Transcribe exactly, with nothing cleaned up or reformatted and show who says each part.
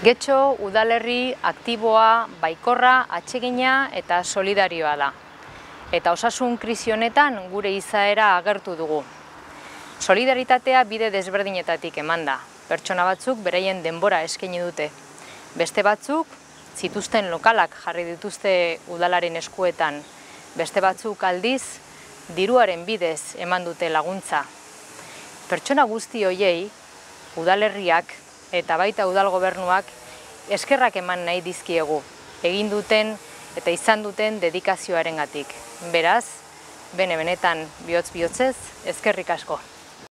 Speaker 1: Getxo udalerri aktiboa, baikorra, atsegina eta solidarioa da. Eta osasun krisi honetan gure izaera agertu dugu. Solidaritatea bide desberdinetatik eman da. Pertsona batzuk beraien denbora eskaini dute. Beste batzuk zituzten lokalak jarri dituzte udalaren eskuetan. Beste batzuk aldiz diruaren bidez eman dute laguntza. Pertsona guzti hoiei udalerriak eta baita udal gobernuak eskerrak eman nahi dizkiegu, egin duten eta izan duten dedikazioarengatik. Beraz, bene benetan bihotz bihotzez, eskerrik asko.